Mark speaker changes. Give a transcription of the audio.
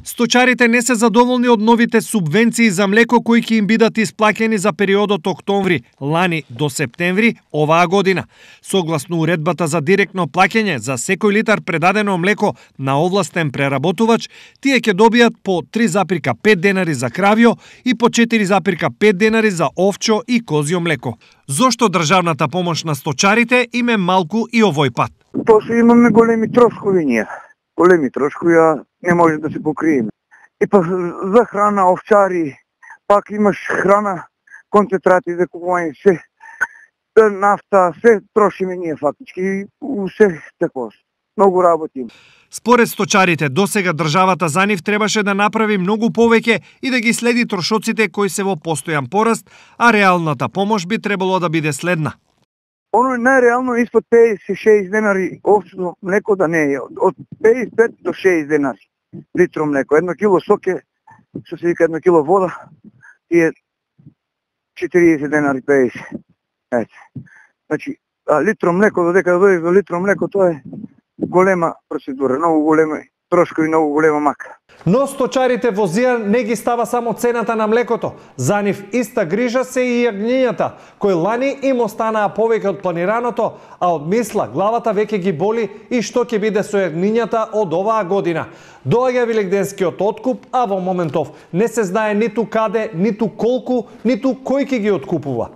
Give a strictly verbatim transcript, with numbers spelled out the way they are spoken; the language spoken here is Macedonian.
Speaker 1: Сточарите не се задоволни од новите субвенции за млеко кои ќе им бидат исплаќени за периодот октомври лани до септември оваа година. Согласно уредбата за директно плаќање за секој литар предадено млеко на овластен преработувач, тие ќе добијат по три зарез пет денари за кравјо и по четири зарез пет денари за овчо и козјо млеко. Зошто државната помош на сточарите им е малку и овој пат?
Speaker 2: Тоа што имаме големи трошкови ние. Големи трошкови, а не може да се покриеме. И па за храна, овчари, пак имаш храна, концентрати за купување, се, нафта, се трошиме ние фактички, и се такво. Многу работим.
Speaker 1: Според сточарите, досега државата за нив требаше да направи многу повеќе и да ги следи трошоците кои се во постојан пораст, а реалната помош би требало да биде следна.
Speaker 2: Оно е најреално испод педесет до шеесет денари овчно млеко да не е. Од педесет и пет до шеесет денари литро млеко. Едно кило соке, што се вика едно кило вода, и е четириесет денари педесет. Ете. Значи, а литро млеко, додека да дојдеш до литро млеко, тоа е голема процедура, многу голема трошкови, многу голема мака.
Speaker 1: Но сточарите во Зија не ги става само цената на млекото. За нив иста грижа се и јагнињата, кои лани им останаа повеќе од планираното, а од мисла главата веќе ги боли и што ќе биде со јагнињата од оваа година. Доаѓа Великденскиот откуп, а во моментов не се знае ниту каде, ниту колку, ниту кој ќе ги откупува.